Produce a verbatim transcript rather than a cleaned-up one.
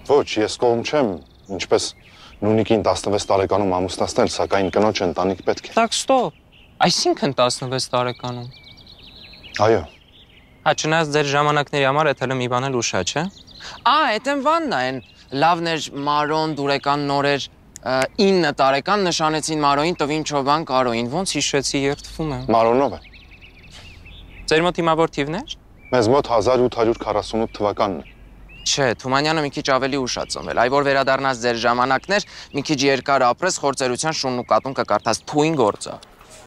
Ոչ, ես կողմ չեմ, ինչպես նույնիկին տասնվեց տարեկանում ամուսնացնել, սակայն կնոջ ընտանիք պետք է։ Так, ստոպ։ Այսինքն տասնվեց տարեկանում։ Այո։ Հա, չնայած ձեր ժամանակների համար այդ հələ մի բան էլ ուշա, չէ։ Ա, այդ են վաննա են լավներ Մարոն դուրեկան նորեր ինը տարեկան նշանեցին Մարոին տվին Չոբան Կարոին, ոնց հիշեցի երդվում եմ։ Մարոնով է։ Ձեր մոտ հիմա որ թիվներ։ Մեզ մոտ հազար ութ հարյուր քառասունութ թվականն է։ Չէ, Թումանյանը մի քիչ ավելի ուշ ա ծնվել, այ որ վերադառնաս ձեր ժամանակներ, մի քիչ երկար ապրես, խորձերության շունն ու կատուն կկարդաս, թույն գործ ա։